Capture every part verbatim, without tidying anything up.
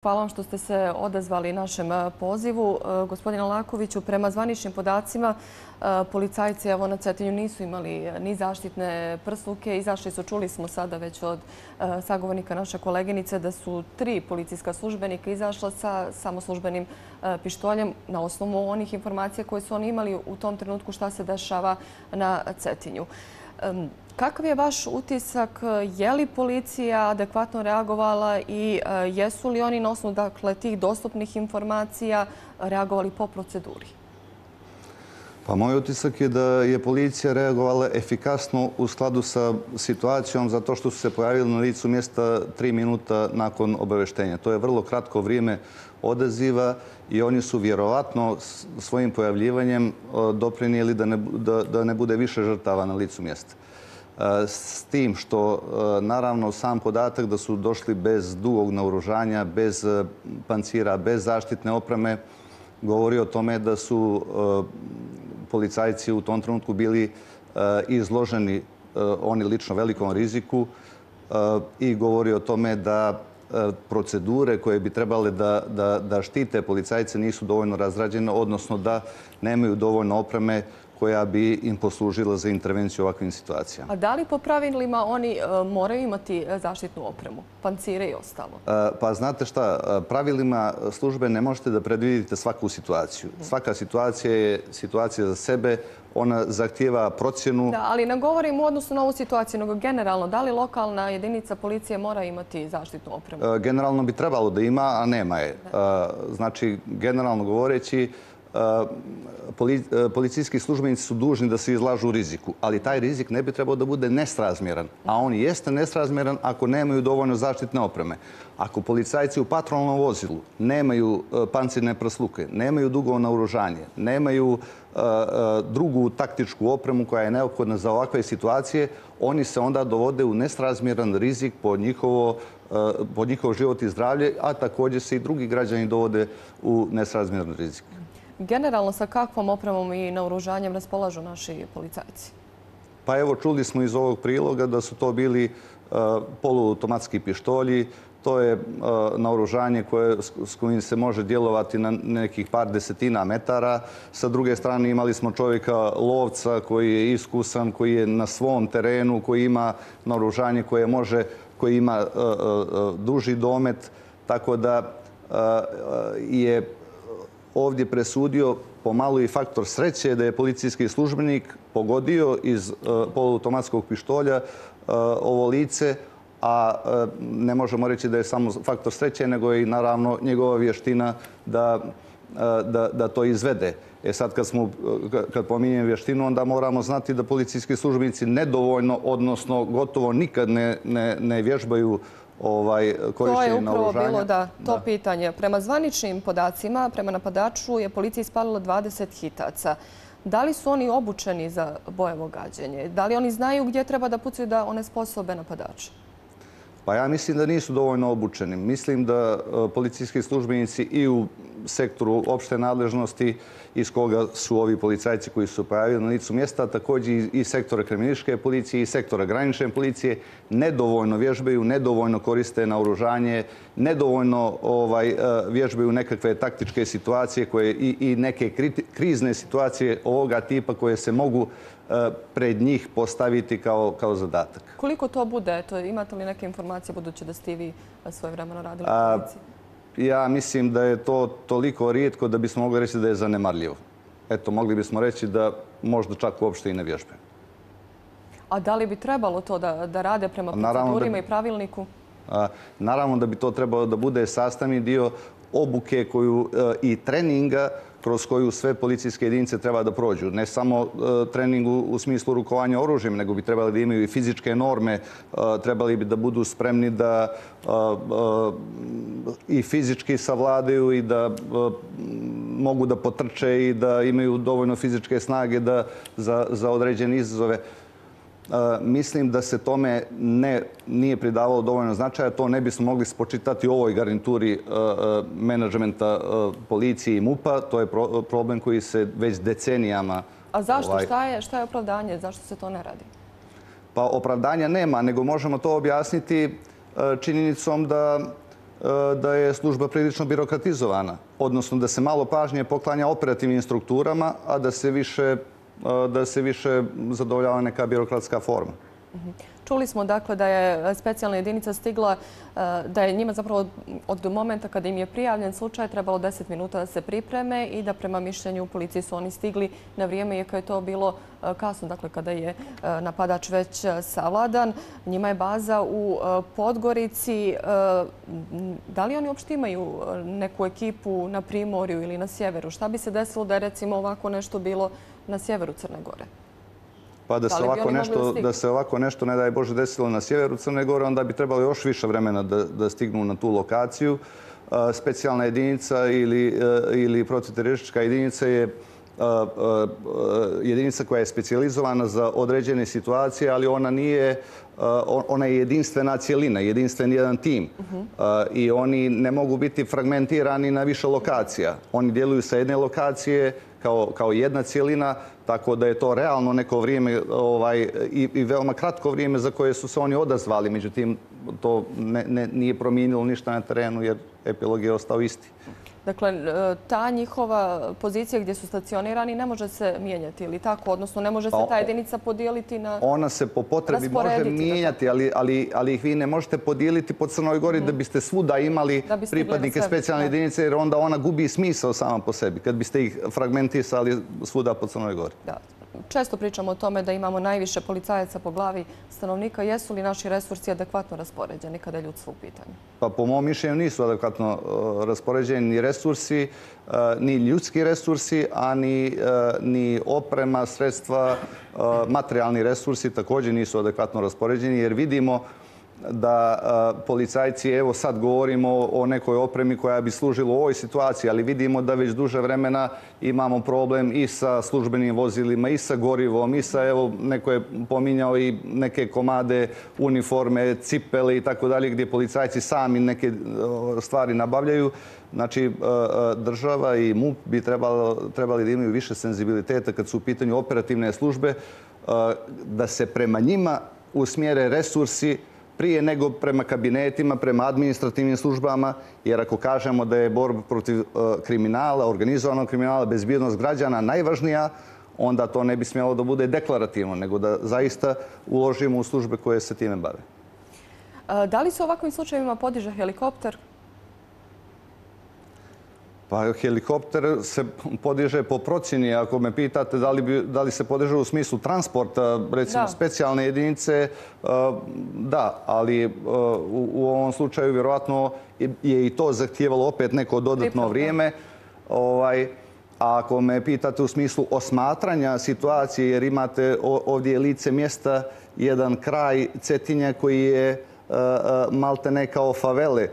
Hvala vam što ste se odazvali našem pozivu. Gospodine Lakoviću, prema zvaničnim podacima, policajci evo na Cetinju nisu imali ni zaštitne prsluke. Izašli su, čuli smo sada već od sagovornika naše koleginice, da su tri policijska službenika izašla sa samoslužbenim pištoljem na osnovu onih informacija koje su oni imali u tom trenutku šta se dešava na Cetinju. Kakav je vaš utisak? Je li policija adekvatno reagovala i jesu li oni na osnovu dakle, tih dostupnih informacija reagovali po proceduri? Pa moj utisak je da je policija reagovala efikasno u skladu sa situacijom zato što su se pojavili na licu mjesta tri minuta nakon obaveštenja. To je vrlo kratko vrijeme odaziva i oni su vjerovatno svojim pojavljivanjem doprinijeli da ne, da, da ne bude više žrtava na licu mjesta. S tim što, naravno, sam podatak da su došli bez dugog naoružanja, bez pancira, bez zaštitne opreme, govori o tome da su policajci u tom trenutku bili izloženi oni lično velikom riziku i govori o tome da procedure koje bi trebale da, da, da štite policajce nisu dovoljno razrađene, odnosno da nemaju dovoljno opreme koja bi im poslužila za intervenciju u ovakvim situacijama. A da li po pravilima oni moraju imati zaštitnu opremu, pancire i ostalo? Pa znate šta, pravilima službe ne možete da predvidite svaku situaciju. Svaka situacija je situacija za sebe, ona zahtijeva procjenu. Da, ali ne govorim u odnosu na ovu situaciju, nego generalno, da li lokalna jedinica policije mora imati zaštitnu opremu? Generalno bi trebalo da ima, a nema je. Znači, generalno govoreći, policijski službenici su dužni da se izlažu riziku, ali taj rizik ne bi trebao da bude nesrazmjeran. A on jeste nesrazmjeran ako nemaju dovoljno zaštitne opreme. Ako policajci u patrolnom vozilu nemaju pancirne prsluke, nemaju dugo naoružanje, nemaju drugu taktičku opremu koja je neophodna za ovakve situacije, oni se onda dovode u nesrazmjeran rizik po njihovo po njihov život i zdravlje, a također se i drugi građani dovode u nesrazmjeran rizik. Generalno, sa kakvom opremom i naoružanjem raspolažu naši policajci? Pa evo, čuli smo iz ovog priloga da su to bili poluautomatski pištolji. To je naoružanje koje, s kojim se može djelovati na nekih par desetina metara. Sa druge strane imali smo čovjeka lovca koji je iskusan, koji je na svom terenu, koji ima naoružanje koje može, koji ima duži domet. Tako da je ovdje presudio pomalo i faktor sreće da je policijski službenik pogodio iz poluautomatskog pištolja ovo lice, a ne možemo reći da je samo faktor sreće, nego i naravno njegova vještina da, da, da to izvede. E sad kad, smo, kad pominjem vještinu, onda moramo znati da policijski službenici nedovoljno, odnosno gotovo nikad ne, ne, ne vježbaju ovaj, korištenje naoružanja. To je upravo bilo da, to da. pitanje. Prema zvaničnim podacima, prema napadaču je policija ispalila dvadeset hitaca. Da li su oni obučeni za bojevo gađenje? Da li oni znaju gdje treba da pucaju da onesposobe napadača? Pa ja mislim da nisu dovoljno obučeni. Mislim da policijski službenici i u sektoru opšte nadležnosti iz koga su ovi policajci koji su pojavili na licu mjesta, također i sektora kriminalističke policije i sektora granične policije, nedovoljno vježbaju, nedovoljno koriste naoružanje, nedovoljno ovaj, vježbaju nekakve taktičke situacije koje, i, i neke krizne situacije ovoga tipa koje se mogu pred njih postaviti kao, kao zadatak. Koliko to bude? Eto, imate li neke informacije budući da ste vi svojevremeno radili u policiji? Ja mislim da je to toliko rijetko da bismo mogli reći da je zanemarljivo. Eto, mogli bismo reći da možda čak uopšte i ne vježbe. A da li bi trebalo to da, da rade prema procedurima i pravilniku? A, naravno da bi to trebalo da bude sastavni dio obuke koju, i treninga kroz koju sve policijske jedinice treba da prođu. Ne samo trening u smislu rukovanja oružjem, nego bi trebali da imaju i fizičke norme, trebali bi da budu spremni da i fizički savladaju i da mogu da potrče i da imaju dovoljno fizičke snage da, za, za određene izazove. Mislim da se tome ne, nije pridavalo dovoljno značaja. To ne bismo mogli spočitati u ovoj garnituri menadžmenta policije i MUP-a. To je problem koji se već decenijama... A zašto? Ovaj... Šta je, šta je opravdanje? Zašto se to ne radi? Pa opravdanja nema, nego možemo to objasniti činjenicom da da je služba prilično birokratizovana, odnosno da se malo pažnje poklanja operativnim strukturama, a da se više, da se više zadovoljava neka birokratska forma. Čuli smo dakle da je specijalna jedinica stigla, da je njima zapravo od momenta kada im je prijavljen slučaj trebalo deset minuta da se pripreme i da prema mišljenju policije su oni stigli na vrijeme, iako je to bilo kasno, dakle kada je napadač već savladan. Njima je baza u Podgorici. Da li oni uopšte imaju neku ekipu na Primorju ili na sjeveru? Šta bi se desilo da je recimo ovako nešto bilo na sjeveru Crne Gore? Pa da se, ovako nešto, da se ovako nešto, ne daj Bože, desilo na sjeveru Crne Gore, onda bi trebalo još više vremena da, da stignu na tu lokaciju. Specijalna jedinica ili, ili protivteroristička jedinica je jedinica koja je specijalizovana za određene situacije, ali ona nije, ona je jedinstvena cjelina, jedinstven jedan tim. I oni ne mogu biti fragmentirani na više lokacija. Oni djeluju sa jedne lokacije kao, kao jedna cjelina, tako da je to realno neko vrijeme ovaj, i, i veoma kratko vrijeme za koje su se oni odazvali. Međutim, to ne, ne, nije promijenilo ništa na terenu jer epilog je ostao isti. Dakle, ta njihova pozicija gdje su stacionirani ne može se mijenjati ili tako? Odnosno, ne može se ta jedinica podijeliti na... Ona se po potrebi može mijenjati, ali, ali, ali ih vi ne možete podijeliti po Crnoj Gori mm. da biste svuda imali pripadnike specijalne jedinice, jer onda ona gubi smisao sama po sebi, kad biste ih fragmentisali svuda po Crnoj Gori. Da. Često pričamo o tome da imamo najviše policajaca po glavi stanovnika. Jesu li naši resursi adekvatno raspoređeni kada je ljudstvo u pitanju? Pa po mom mišljenju nisu adekvatno uh, raspoređeni ni resursi, uh, ni ljudski resursi, a ni, uh, ni oprema, sredstva, uh, materijalni resursi također nisu adekvatno raspoređeni jer vidimo da a, policajci, evo sad govorimo o nekoj opremi koja bi služila u ovoj situaciji, ali vidimo da već duže vremena imamo problem i sa službenim vozilima, i sa gorivom, i sa, evo, neko je pominjao i neke komade, uniforme, cipele i tako dalje, gdje policajci sami neke stvari nabavljaju. Znači, država i M U P bi trebali, trebali da imaju više senzibiliteta kad su u pitanju operativne službe, da se prema njima usmjere resursi prije nego prema kabinetima, prema administrativnim službama, jer ako kažemo da je borba protiv kriminala, organizovanog kriminala, bezbjednost građana najvažnija, onda to ne bi smjelo da bude deklarativno, nego da zaista uložimo u službe koje se time bave. Da li se u ovakvim slučajevima podiže helikopter? Pa helikopter se podiže po procjeni. Ako me pitate da li, bi, da li se podiže u smislu transporta, recimo da. Specijalne jedinice, da, ali u, u ovom slučaju vjerojatno je i to zahtijevalo opet neko dodatno vrijeme. Ovaj, a ako me pitate u smislu osmatranja situacije, jer imate ovdje lice mjesta, jedan kraj Cetinja koji je malte ne kao favele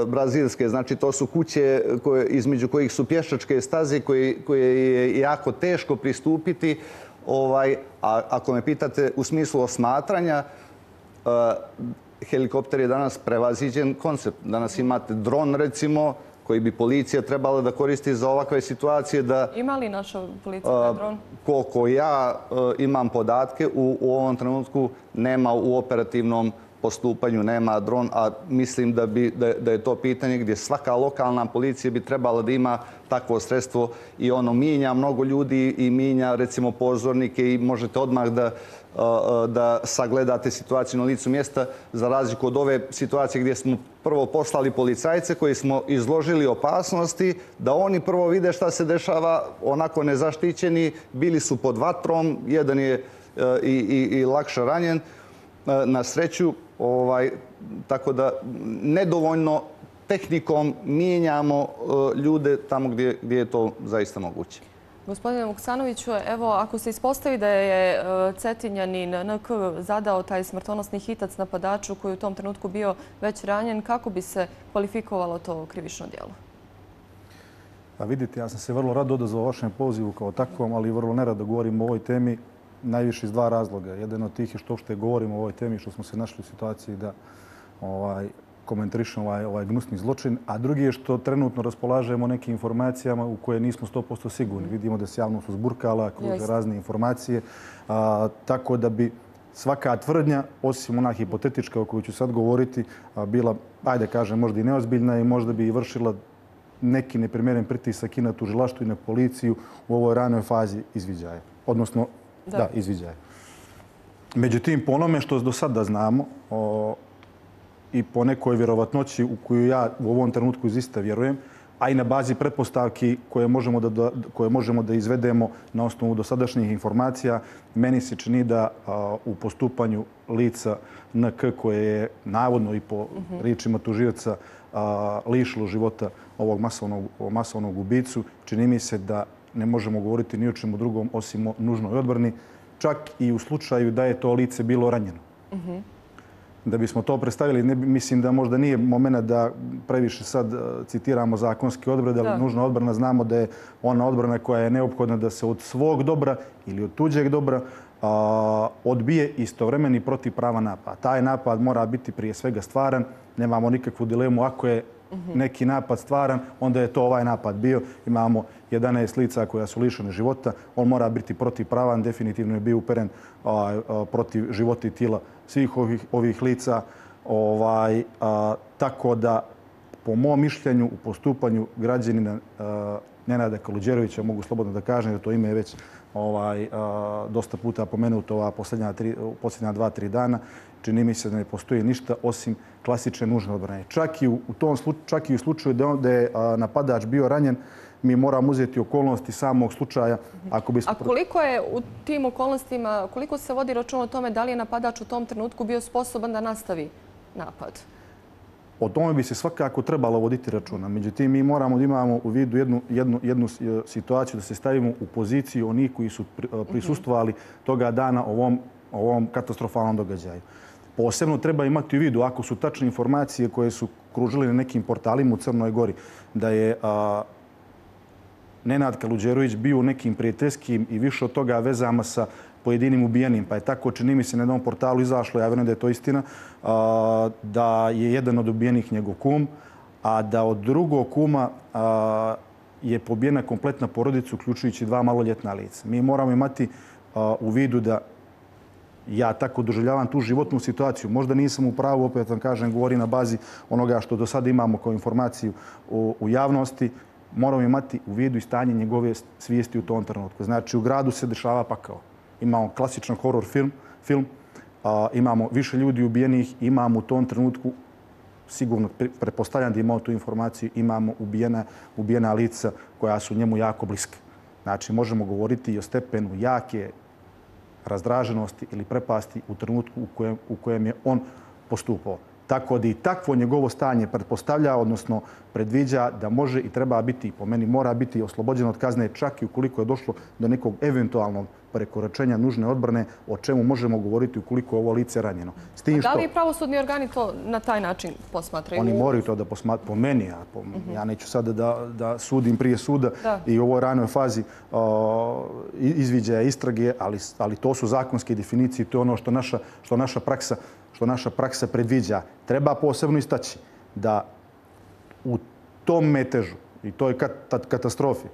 brazilske. Znači, to su kuće koje, između kojih su pješačke staze koje, koje je jako teško pristupiti. Ovaj, a ako me pitate u smislu osmatranja, uh, helikopter je danas prevaziđen koncept. Danas imate dron, recimo, koji bi policija trebala da koristi za ovakve situacije. Da, ima li naša policija uh, dron? Koliko ja uh, imam podatke, u, u ovom trenutku nema u operativnom postupanju, nema dron, a mislim da, bi, da, da je to pitanje gdje svaka lokalna policija bi trebala da ima takvo sredstvo i ono mijenja mnogo ljudi i mijenja recimo pozornike i možete odmah da, da sagledate situaciju na licu mjesta za razliku od ove situacije gdje smo prvo poslali policajce koji smo izložili opasnosti, da oni prvo vide šta se dešava onako nezaštićeni, bili su pod vatrom, jedan je i, i, i lakše ranjen. Na sreću, ovaj, tako da nedovoljno tehnikom mijenjamo uh, ljude tamo gdje, gdje je to zaista moguće. Gospodine Vuksanoviću, evo, ako se ispostavi da je uh, Cetinjanin N K zadao taj smrtonosni hitac napadaču koji u tom trenutku bio već ranjen, kako bi se kvalifikovalo to krivično djelo? Pa vidite, ja sam se vrlo rado odazvao vašem pozivu kao takvom, ali vrlo nerado govorim o ovoj temi. Najviše iz dva razloga. Jedan od tih je što što govorimo o ovoj temi, što smo se našli u situaciji da ovaj, komentarišemo ovaj, ovaj gnusni zločin, a drugi je što trenutno raspolažemo nekim informacijama u koje nismo sto posto sigurni. Vidimo da se javnost uzburkala, kruže razne informacije, a, tako da bi svaka tvrdnja, osim ona hipotetička o kojoj ću sad govoriti, bila, ajde kažem, možda i neozbiljna i možda bi i vršila neki neprimjeren pritisak i na tužilaštvo i na policiju u ovoj ranoj fazi izviđaja. Odnosno, da, da izviđaja. Međutim, po onome što do sada znamo o, i po nekoj vjerovatnoći u koju ja u ovom trenutku izista vjerujem, a i na bazi pretpostavki koje možemo da, koje možemo da izvedemo na osnovu dosadašnjih informacija, meni se čini da a, u postupanju lica N K koje je navodno i po mm-hmm. riječima tužioca lišilo života ovog masovnog, masovnog ubicu, čini mi se da ne možemo govoriti ni o čemu drugom osim o nužnoj odbrani, čak i u slučaju da je to lice bilo ranjeno. Mm-hmm. Da bismo to predstavili, ne, mislim da možda nije moment da previše sad citiramo zakonske odredbe, ali nužna odbrana znamo da je ona odbrana koja je neophodna da se od svog dobra ili od tuđeg dobra a, odbije istovremeni protiv prava napad. Taj napad mora biti prije svega stvaran, nemamo nikakvu dilemu. Ako je neki napad stvaran, onda je to ovaj napad bio. Imamo jedanaest lica koja su lišene života. On mora biti protivpravan, definitivno je bio uperen a, a, protiv života i tijela svih ovih, ovih lica. Ovaj, a, tako da, po mom mišljenju, u postupanju građanina a, Nenada Kaluđerovića, mogu slobodno da kažem, jer to ime je već ovaj, a, dosta puta pomenuto ova posljednja, tri, posljednja dva, tri dana, čini mi se da ne postoji ništa osim klasične nužne odbrane. Čak i u, u tom slučaju, čak i u slučaju da, on, da je a, napadač bio ranjen, mi moramo uzeti okolnosti samog slučaja. Ako bismo... A koliko je u tim okolnostima, koliko se vodi račun o tome da li je napadač u tom trenutku bio sposoban da nastavi napad? O tome bi se svakako trebalo voditi računa. Međutim, mi moramo da imamo u vidu jednu, jednu, jednu situaciju, da se stavimo u poziciju onih koji su prisustvovali toga dana ovom, ovom katastrofalnom događaju. Posebno treba imati u vidu, ako su tačne informacije koje su kružile na nekim portalima u Crnoj Gori, da je a, Nenad Kaluđerović bio u nekim prijateljskim i više od toga vezama sa pojedinim ubijenim. Pa je tako, čini mi se, na jednom portalu izašlo, ja vjerujem da je to istina, a, da je jedan od ubijenih njegov kum, a da od drugog kuma a, je pobijena kompletna porodica, uključujući dva maloljetna lica. Mi moramo imati a, u vidu da ja tako doživljavam tu životnu situaciju. Možda nisam u pravu, opet vam kažem, govori na bazi onoga što do sada imamo kao informaciju u, u javnosti. Moramo imati u vidu i stanje njegove svijesti u tom trenutku. Znači, u gradu se dešava pakao. Imamo klasičan horor film, film a, imamo više ljudi ubijenih, imamo u tom trenutku, sigurno pretpostavljam da imamo tu informaciju, imamo ubijena, ubijena lica koja su njemu jako bliska. Znači, možemo govoriti i o stepenu jake razdraženosti ili prepasti u trenutku u kojem, u kojem je on postupao. Tako da i takvo njegovo stanje pretpostavlja, odnosno predviđa da može i treba biti, po meni mora biti oslobođen od kazne, čak i ukoliko je došlo do nekog eventualnog prekoračenja nužne odbrane, o čemu možemo govoriti ukoliko je ovo lice ranjeno. S tim što, da li pravosudni organi to na taj način posmatraju? Oni moraju to da posmatraju po meni. Ja, po, uh-huh. ja neću sada da, da sudim prije suda da. I u ovoj ranoj fazi uh, izviđaja istrage, ali, ali to su zakonske definicije, to je ono što naša, što naša praksa što naša praksa predviđa. Treba posebno istaći da u tom metežu i toj katastrofi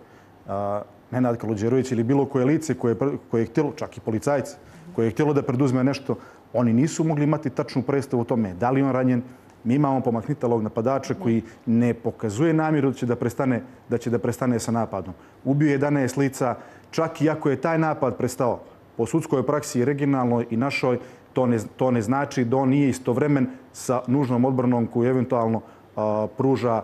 Nenad Kaluđerović ili bilo koje lice koje, koje je htjelo, čak i policajci, koje je htjelo da preduzme nešto, oni nisu mogli imati tačnu predstavu o tome da li on ranjen. Mi imamo pomaknitalog napadača koji ne pokazuje namjeru da će da prestane, da će da prestane sa napadom. Ubio jedanaest lica, čak i ako je taj napad prestao po sudskoj praksi regionalnoj i našoj, To ne, to ne znači da on nije istovremen sa nužnom odbranom koju eventualno a, pruža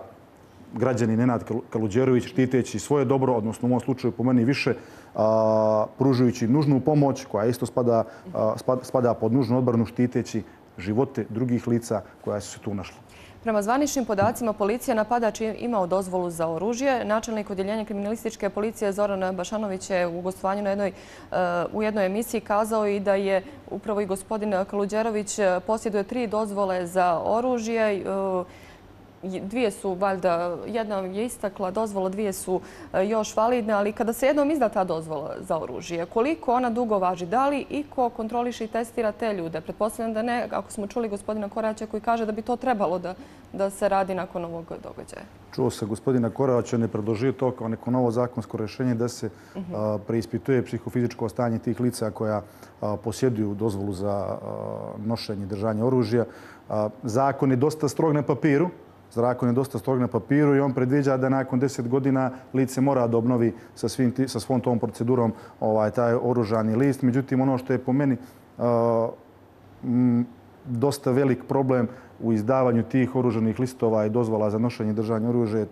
građanin Nenad Kaluđerović štiteći svoje dobro, odnosno u ovom slučaju po meni više a, pružujući nužnu pomoć koja isto spada, a, spada, spada pod nužnu odbranu štiteći živote drugih lica koja su se tu našla. Prema zvaničnim podacima, policija napadač je imao dozvolu za oružje. Načelnik odjeljenja kriminalističke policije Zoran Bašanović je u gostovanju na jednoj, u jednoj emisiji kazao i da je upravo i gospodin Kaluđerović posjeduje tri dozvole za oružje. dvije su valjda, jedna je istakla dozvola, dvije su još validne, ali kada se jednom izda ta dozvola za oružje, koliko ona dugo važi? Da li iko kontroliše i testira te ljude? Pretpostavljam da ne, ako smo čuli gospodina Koraća koji kaže da bi to trebalo da, da se radi nakon ovog događaja. Čuo se gospodina Koraća, ne predložio to kao neko novo zakonsko rješenje da se uh -huh. a, preispituje psihofizičko stanje tih lica koja a, posjeduju dozvolu za a, nošenje i držanje oružja. A, zakon je dosta strog na papiru, Zakon je dosta strog na papiru i on predviđa da nakon deset godina lice mora da obnovi sa, svim, sa svom tom procedurom ovaj, taj oružani list. Međutim, ono što je po meni uh, m, dosta velik problem u izdavanju tih oružanih listova i dozvola za nošenje i držanje oružja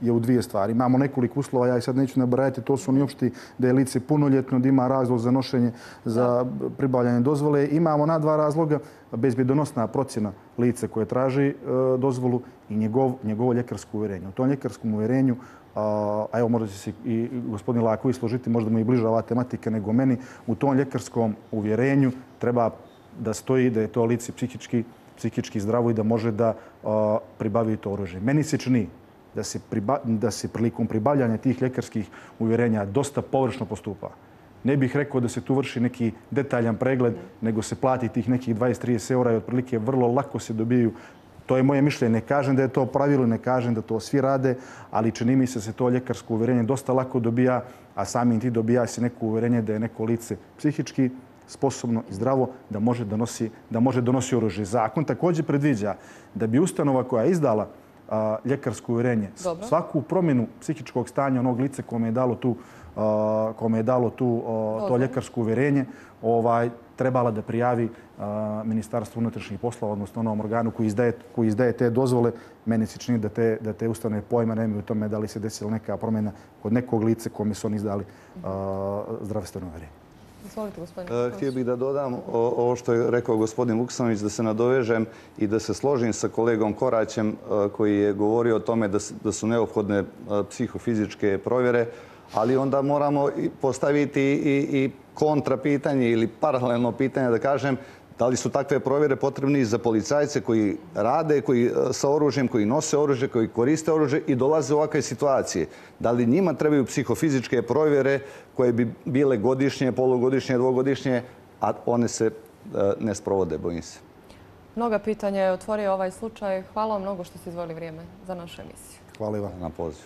je u dvije stvari. Imamo nekoliko uslova, ja ih sad neću nabrajati, to su oni opšti da je lice punoljetno, da ima razlog za nošenje, za pribavljanje dozvole. Imamo na dva razloga, bezbjedonosna procjena lice koje traži e, dozvolu i njegov, njegovo ljekarsko uvjerenje. U tom ljekarskom uvjerenju, a, a evo možda će se i gospodin Laković složiti, možda mu i bliža ova tematika nego meni, u tom ljekarskom uvjerenju treba da stoji da je to lice psihički, psihički zdravo i da može da a, pribavi to oružje. Meni se čini da se, priba, da se prilikom pribavljanja tih ljekarskih uvjerenja dosta površno postupa. Ne bih rekao da se tu vrši neki detaljan pregled, nego se plati tih nekih dvadeset do trideset eura i otprilike vrlo lako se dobiju. To je moje mišljenje. Ne kažem da je to pravilo, ne kažem da to svi rade, ali čini mi se da se to ljekarsko uvjerenje dosta lako dobija, a samim ti dobija se neko uvjerenje da je neko lice psihički sposobno i zdravo da može donosi, da može donosi oružje. Zakon također predviđa da bi ustanova koja je izdala a, ljekarsko uvjerenje, Dobro. svaku promjenu psihičkog stanja onog lice kome je dalo tu, a, kome je dalo tu a, to ljekarsko uvjerenje, ovaj, trebala da prijavi a, Ministarstvo unutrašnjih poslova, odnosno onom organu koji izdaje, koji izdaje te dozvole. Meni se čini da te, da te ustanove pojma nemaju u tome da li se desila neka promjena kod nekog lice kome su oni izdali a, zdravstveno uvjerenje. Izvolite, gospodine. Htio bih da dodam ovo što je rekao gospodin Vuksanović, da se nadovežem i da se složim sa kolegom Koraćem koji je govorio o tome da su neophodne psihofizičke provjere, ali onda moramo postaviti i kontra pitanje ili paralelno pitanje, da kažem, da li su takve provjere potrebne i za policajce koji rade koji, sa oružjem, koji nose oružje, koji koriste oružje i dolaze u ovakve situacije? Da li njima trebaju psihofizičke provjere koje bi bile godišnje, polugodišnje, dvogodišnje, a one se ne sprovode, bojim se? Mnoga pitanja je otvorio ovaj slučaj. Hvala vam mnogo što ste izdvojili vrijeme za našu emisiju. Hvala vam na pozivu.